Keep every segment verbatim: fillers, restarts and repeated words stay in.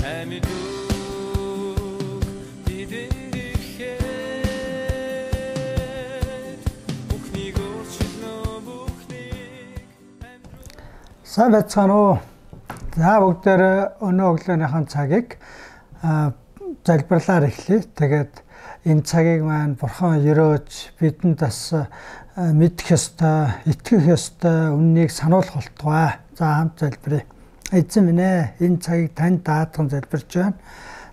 Сайн байцгаана уу. За бүгдээр өнөө өглөөнийхэн цагийг залбирлаар эхлэе. Тэгээд энэ цагийг маань Бурхан өрөөж бидэнд бас мэдэх ёстой, итгэх ёстой үннийг сануулах болтугай. За хамт залбирая. Эзэн минь ээ, энэ цагийг танд даатган залбирч байна.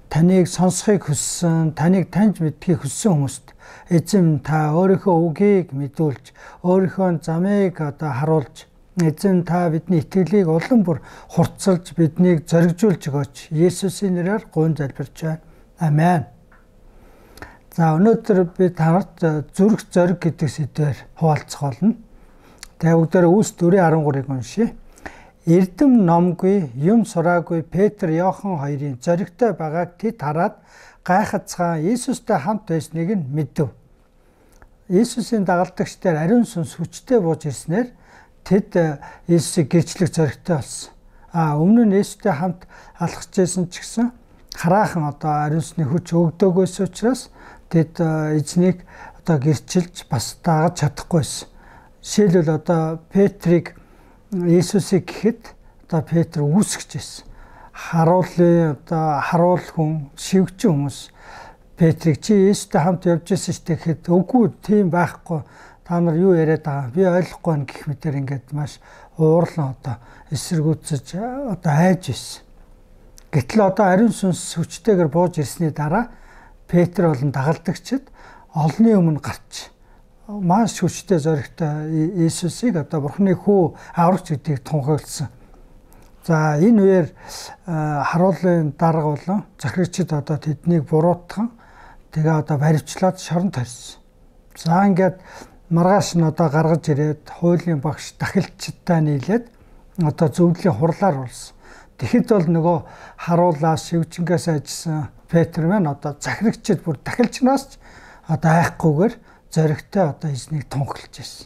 Таныг сонсохыг хүссэн, таныг таньж мэдхийг хүссэн хүмүүст эзэн та өөрийнхөө үгийг мэдүүлж, өөрийнхөө замыг одоо харуулж, эзэн та бидний итгэлийг улам бүр хурцлж биднийг зоригжуулж өгөөч. Есүсийн нэрээр гуйн залбирч байна. Амен. За өнөөдөр би танарт зүрх зориг гэдэг сэдвээр хуваалцах болно. Тэгээ бүгдээр Үлс дөрвөн арван гурыг уншия. Эрдэм номгүй, юм сураагүй Петр, Иохан хоёрын зоригтой байгааг тэд хараад гайхацгаан Иесустэй хамт байсныг нь мэдв. Иесусийн дагалдагчдаар ариун сүнс хүчтэй бууж ирснээр тэд Иесусыг гэрчлэх зоригтой болсон. А өмнө нь Иесустэй хамт алхаж байсан ч гэсэн хараахан одоо ариун сүнсний хүч өгдөгөөс учраас тэд эзнийг одоо гэрчилж бас дагаж чадахгүйсэн. Жишээлбэл одоо Петрийг Иесусыг гэхэд одоо Петр үүсгэж байсан. Харуулын одоо харуул хүн, шивгчин хүмүүс Петрийг чи Иесустэй хамт явж байсан шүү дээ гэхэд үгүй тийм байхгүй. Та нар юу яриад байгаа би ойлгохгүй байна гэх мэтэр ингээд маш уурлан одоо эсэргүүцэж одоо хайж ирсэн. Гэтэл одоо ариун сүнс хүчтэйгээр бууж ирсний дараа Петр болон дагалдагчид олонний өмнө гарч маш хүчтэй зоригтой Иесусыг одоо Бурхны хүү аврагч гэдгийг тунхагласан. За энэ үеэр харуулын дарга болон захирагчид одоо тэднийг буруутган тэгээ одоо баривчлаад шоронд тарьсан. За ингээд маргааш нь одоо гаргаж ирээд хуулийн багш дахилчдтай нийлээд одоо зөвлөлийн хурлаар болсон. Тэгэхэд бол нөгөө харуулаа шивжингээс ажилласан Петр маань одоо захирагчид бүр дахилчнаас ч одоо айхгүйгээр зоригтой одоо эзнийг тунхаглаж байсан.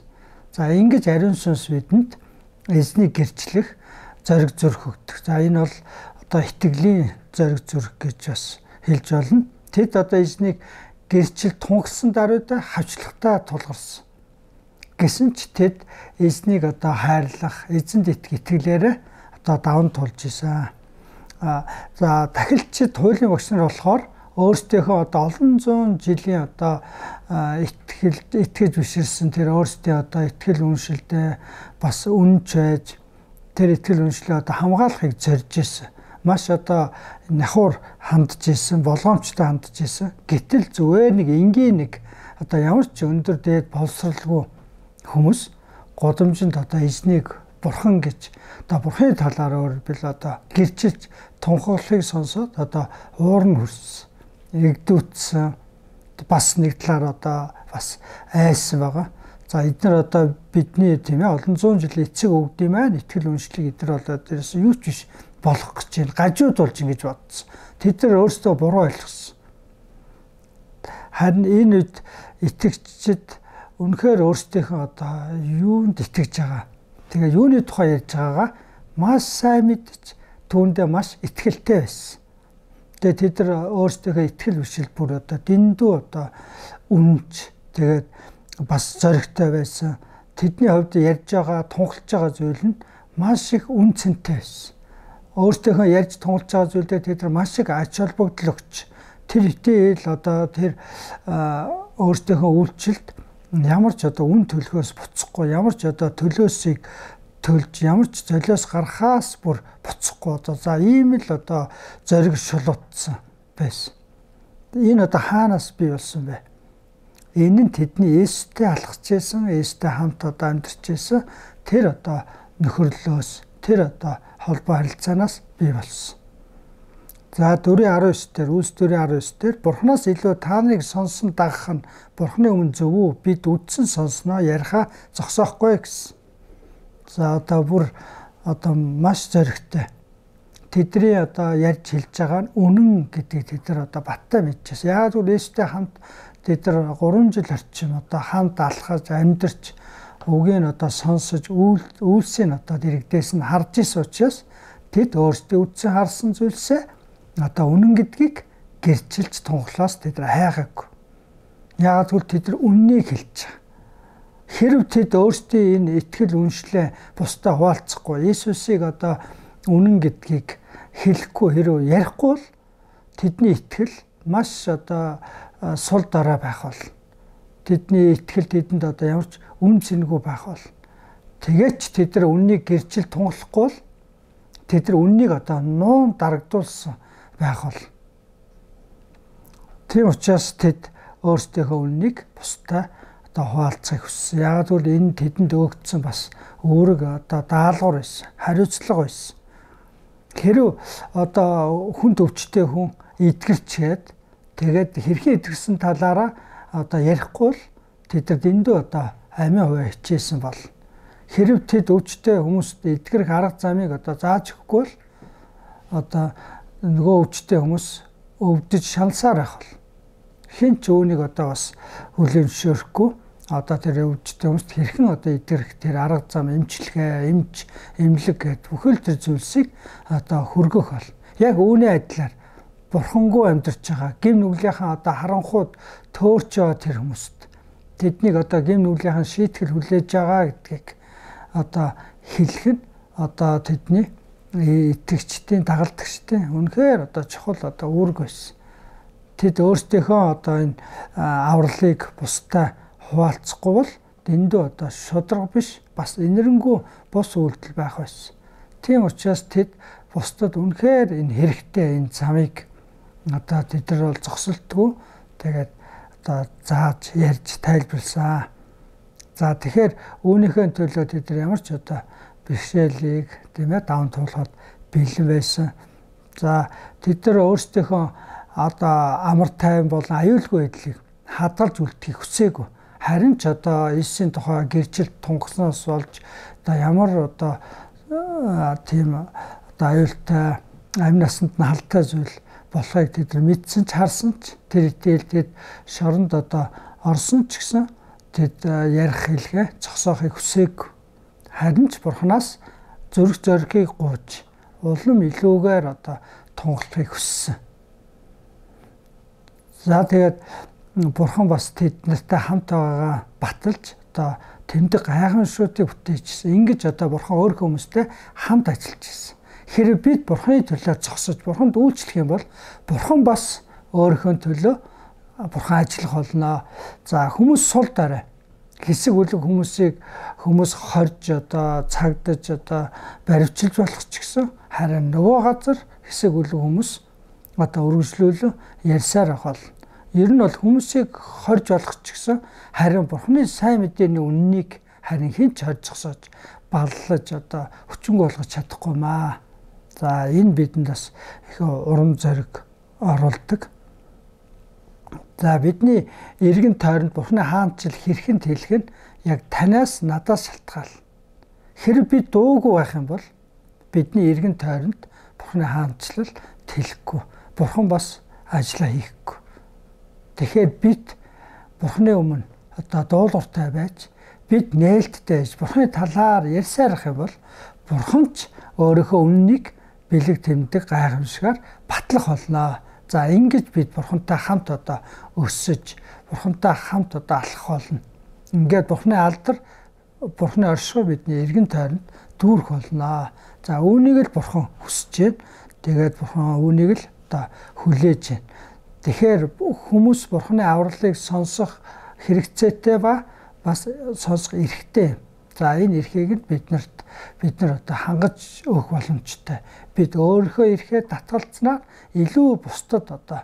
За ингэж ариун сүнс бидэнд эзнийг гэрчлэх зориг зүрх өгдөг. За энэ бол одоо итгэлийн зориг зүрх гэж бас хэлж болно. Тэд одоо эзнийг гэрчил тунхсан даруйда хавчлагтай тулгарсан. Гэсэн ч тэд эзнийг одоо хайрлах, эзэнд итгэх итгэлээрээ одоо даван тулж исэн. А за дахилчид хуулийн багш нар болохоор өөрсдийнхөө одоо олон зуун жилийн одоо итгэл итгэж биширсэн тэр өөрсдийн одоо итгэл үншилдээ бас үнж байж тэр итгэл үншлээ одоо хамгаалахыг зорж исэн. Маш одоо нахур хандж исэн, болгоомжтой хандж исэн. Гэтэл зүгээр нэг энгийн нэг одоо ямар ч өндөр дээд боловсралгүй хүмүүс годомжинд одоо эзнийг Бурхан гэж одоо Бурханы талаар өөрөлдөл одоо гэрчилж тунхаглахыг сонсоод одоо уур нь хүрсэн, игдүүцсэн, бас нэг талаар одоо бас айсан байгаа. За эдгээр одоо бидний тийм ээ олон зуун жилийн эцэг өвгдийн маань итгэл үншлийг эдгээр болоод дээрээс юу ч биш болох гэж байна. Гажууд болж ингэж бодсон. Тэд нар өөрсдөө буруу ойлгосон. Харин энэ үед итгэгчид үнэхээр өөрсдийнхөө одоо юунд итгэж байгаа. Тэгээ юуны тухай ярьж байгаагаа маш сайн мэдж түүндээ маш итгэлтэй байсан. Тэгээ тэд нар өөрсдийнхөө итгэл бишил бүр одоо дэндүү одоо үнж тэгээд бас зоригтой байсан. Тэдний хувьд ярьж байгаа, тунхалж байгаа зүйл нь маш их үн цэнтэй байсан. Өөрсдийнхөө ярьж тунхалж байгаа зүйлдээ тэд нар маш их ач холбогдол өгч тэр итгэл одоо тэр өөрсдийнхөө үйлчлэлд ямар ч одоо үн төлөхөөс буцахгүй, ямар ч одоо төлөөсийг төлж, ямар ч золиос гарахаас бүр буцахгүй одоо за ийм л одоо зориг шулуутсан байсан. Энэ одоо хаанаас бий болсон бэ? Энэ нь тэдний Иесустэй алхаж байсан, Иесустэй хамт одоо амьдарч байсан тэр одоо нөхөрлөөс, тэр одоо холбоо харилцаанаас бий болсон. За дөрвөн арван девять дээр Үлс дөрвөн арван девять дээр Бурханаас илүү та нарыг сонсон дагах нь Бурханы өмнө зөв үү? Бид үдсэн сонсноо яриха зогсоохгүй гэсэн. За одоо бүр одоо маш зоригтой. Тэдний одоо ярьж хэлж байгаа нь үнэн гэдгийг тэд нар одоо баттай мэдчихсэн. Яг л Иесустэй хамт тэд нар гурван жил орчим одоо хамт алхаж амьдарч үгийг нь одоо сонсож үйлсийг одоо дэрэгдээс нь харж исэн учраас тэд өөрсдөө үдсэн харсан зүйлсээ одоо үнэн гэдгийг гэрчилж тунхлаас тэд хайгаагүй. Яагаад гэвэл тэд үннийг хэлж байгаа. Хэрв тэд өөрсдийн энэ итгэл үншлээ бусдаа хуваалцахгүй Иесусыг одоо үнэн гэдгийг хэлэхгүй хэрв ярихгүй бол тэдний итгэл маш одоо сул дараа байх бол тэдний итгэл тэдэнд одоо ямар ч үн цэнгүй байх бол тэгээд тэд нар үннийг гэрчил тунхлахгүй бол тэд нар үннийг одоо нуун дарагдуулсан байх бол тийм учраас тэд өөрсдийнхөө үннийг бусдаа одоо хуваалцахыг хүссэн. Яг л энэ тэдэнд өгдсөн бас өөрөг одоо даалгавар байсан, хариуцлага байсан. Хэрв одоо хүнд өвчтэй хүн итгэрчээд тэгээд хэрхэн итгэрсэн талаараа одоо ярихгүй л тэд нар дэндүү одоо амийн хуваа хичээсэн бол хэрв тэд өвчтэй хүмүүст итгэрэх арга замыг одоо зааж өгөхгүй л одоо нөгөө өвчтэй хүмүүс өвдөж шалсаар байх бол хэн ч үүнийг одоо бас хүлээн зөвшөөрөхгүй одоо тэр өвчтэй хүмүүст хэрхэн одоо итгэрэх тэр арга зам эмчилгээ, эмч, эмнэлэг гэдэг бүхэл тэр зүйлсийг одоо хөргөх бол яг үүний адилаар бурхангүй амьдарч байгаа гим нүглийнхэн одоо харанхууд төөрч байгаа тэр хүмүүст тэднийг одоо гим нүглийнхэн шийтгэл хүлээж байгаа гэдгийг одоо хэлэх нь одоо тэдний итгэгчдийн дагалдагчдын үнэхээр одоо чухал одоо үүрэг байсан. Тэд өөрсдийнхөө одоо энэ авралыг бусдаа хуваалцахгүй бол дэндүү одоо шударга биш бас инэрэнгүү бус үйлдэл байх байсан. Тийм учраас тэд бусдад үнэхээр энэ хэрэгтэй энэ замыг одоо тэд нар бол зогсолтгүй тэгээд одоо зааж ярьж тайлбарласан. За тэгэхээр үүнийхээ төлөө тэд нар ямар ч одоо бэрхшээлийг тийм ээ даван туулахад бэлэн байсан. За тэд нар өөрсдийнхөө одоо амар тайван болон аюулгүй байдлыг хадгалж үлдэхийг хүсээгүй. Харин ч одоо Иесусийн тухай гэрчилт тунгасноос болж одоо ямар одоо тийм одоо аюултай амь насанд нь халтай зүйл болохыг тэд нар мэдсэн ч харсан ч тэр итгэлтэд шоронд одоо орсон ч гэсэн тэд ярих хэлгээ зогсоохыг хүсээгүй. Харин ч Бурханаас зүрх зоригийг гууж улам илүүгээр одоо тунгалахыг хүссэн. За тэгээд Бурхан бас тэд нартай хамт байгаагаа баталж одоо тэмдэг гайхамшгуудыг бүтээжсэн. Ингэж одоо Бурхан өөр хүмүүстэй хамт ажиллаж ирсэн. Хэрэг бид Бурханы төлөө зогсож Бурханд үйлчлэх юм бол Бурхан бас өөрийнхөө төлөө Бурхан ажиллах болно. За хүмүүс сул дараа хэсэг үлэг хүмүүсийг хүмүүс хорж одоо цагдаж одоо баривчилж болох ч гэсэн харин нөгөө газар хэсэг үлэг хүмүүс одоо үргэлжлүүлэн ярьсаар авах. Ер нь бол хүмүүсийг хорж болох ч гэсэн харин Бурханы сайн мэдээний үннийг харин хэн ч хорж зогсоож баллаж одоо хүчинг болгож чадахгүй маа. За энэ бидэнд бас их урам зориг оруулдаг. За бидний эргэн тойронд Бурханы хаанчил хэрхэн тэлэх нь яг танаас надаас шалтгаал. Хэрэг бид дуугүй байх юм бол бидний эргэн тойронд Бурханы хаанчлал тэлэхгүй. Бурхан бас ажиллаа хийхгүй. Тэгэхээр бид Бурханы өмнө одоо дуулууртай байж бид нээлттэй байж Бурханы талаар ярьсаар их юм бол Бурхан ч өөрийнхөө үннийг бэлэг тэмдэг гайхамшигаар батлах болно. За ингэж бид Бурхантай хамт одоо өсөж Бурхантай хамт одоо алхах болно. Ингээд Бурханы алдар Бурханы оршихуй бидний эргэн тойронд дүүрэх болно. За үүнийг л Бурхан хүсэж байна. Тэгээд Бурхан үүнийг л одоо хүлээж байна. Тэгэхээр хүмүүс Бурханы авралыг сонсох хэрэгцээтэй ба бас сонсох эрхтэй. За энэ эрхийг нь биднэрт бид нар одоо хангаж өгөх боломжтой. Бид өөрийнхөө эрхээ татгалцнаар илүү бусдад одоо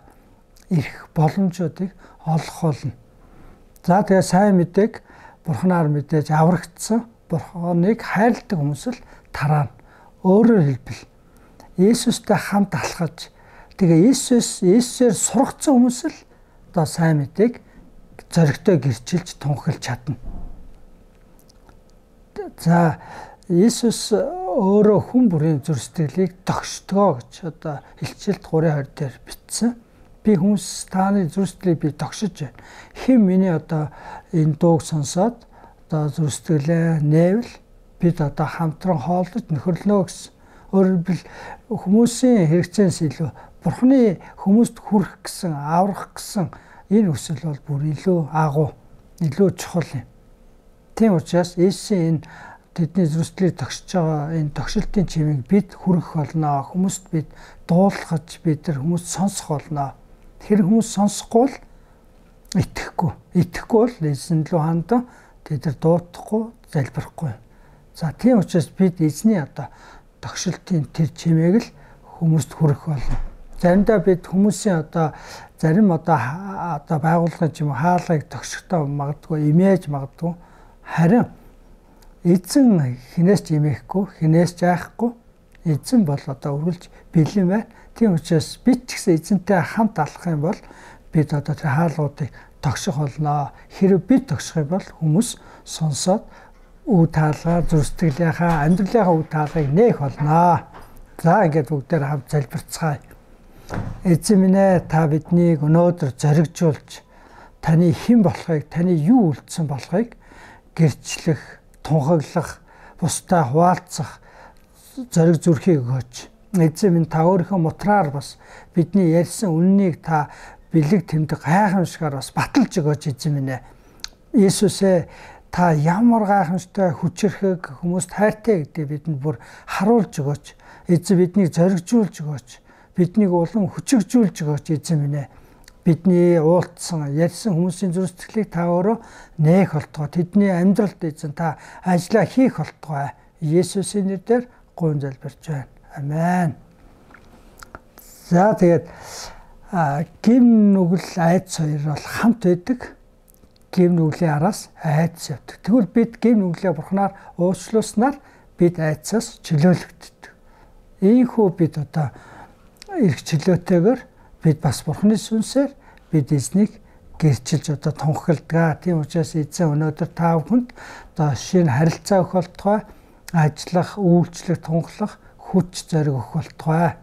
эрх боломжуудыг олох болно. За тэгээ сайн мэдээг Бурханаар мэдээж аврагдсан Бурханыг хайрладаг хүмүүс л тараана. Өөрөөр хэлбэл Иесустай хамт алхаж тэгээ Иесус Иесусээр сургацсан хүмүүс л одоо сайн мэдээг зоригтой гэрчилж тунхилж чадна. За Иесус өөрөө хүн бүрийн зүрх сэтгэлийг тогшдгоо гэж одоо Илчилт гурван хоёр дээр бичсэн. Би хүмүүс тааны зүрх сэтгэлийг би тогшиж байна. Хэн миний одоо энэ дууг сонсоод одоо зүрх сэтгэлээ нээвэл бид одоо хамтран хооллож нөхөрлөнө гэсэн. Өөрөөр хэлбэл хүмүүсийн хэрэгцээс илүү Бурхны хүмүүст хүрэх гэсэн, аврах гэсэн энэ хүсэл бол бүр илүү агуу, илүү чухал юм. Тийм учраас Есүсийн энэ тэдний зүрхлийг тогшиж байгаа энэ тогшилтын чимийг бид хүргэх болно. Хүмүүст бид дуулгаж, бид нар хүмүүст сонсох болно. Тэр хүмүүс сонсохгүй л итгэхгүй. Итгэхгүй бол эзэн лөө хандан тэд нар дуутахгүй, залбирахгүй. За тийм учраас бид эзний одоо тогшилтын тэр чимээг л хүмүүст хүргэх болно. Заримдаа бид хүмүүсийн одоо зарим одоо одоо байгууллагын ч юм уу хаалгыг тогшихтой магадгүй, имэж магадгүй. Харин эзэн хинээс ч имэхгүй, хинээс ч айхгүй. Эзэн бол одоо үргэлж бэлэн байна. Тийм учраас бид ч гэсэн эзэнтэй хамт алах юм бол бид одоо тэр хаалгуудыг тогших болно. Хэрэв бид тогших юм бол хүмүүс сонсоод үе таалгаа, зүрстэглийнхаа, амьдралынхаа үе таалгыг нээх болно. За ингээд бүгдээр хамт залбирцгаая. Эзэн минь ээ, та биднийг өнөөдөр зоригжуулж, таны хэн болохыг, таны юу үлдсэн болохыг гэрчлэх, тунхаглах, бусдаа хуваалцах зориг зүрхийг өгөөч. Эзэн минь, та өөрийнхөө мутраар бас бидний ярьсан үннийг та бэлэг тэмдэг гайхамшигар бас баталж өгөөч эзэн минь ээ. Иесус ээ, та ямар гайхамшигтай хүчрхэг хүмүүст хайртай гэдгийг бидэнд бүр харуулж өгөөч. Эзэн биднийг зоригжуулж өгөөч. Биднийг улам хүчрхжүүлж өгөөч эзэн минь ээ. Бидний уултсан, ярьсан хүмүүсийн зүрх-сэтгэлийг та өөрөө нээх болтугай. Тэдний амьдралд эзэн та ажиллаа хийх болтугай. Есүсийн нэрээр гуйн залбирч байна. Амен. За тэгээд гим нүгэл айдас хоёр бол хамт байдаг. Гим нүглийн араас айдас явдаг. Тэгвэл бид гим нүглээ бурхнаар уучлуулснаар бид айдасаас чөлөөлөгддөг. Ийхүү бид одоо эрх чөлөөтэйгээр бид бас бурхны сүнсээр бид эзнийг гэрчилж одоо тунхагладаг. Тийм учраас эзэн өнөөдөр та бүхэнд одоо шинэ харилцаа өгөх болтугай, ажиллах, үйлчлэх, тунхлах хүч зориг өгөх болтугай.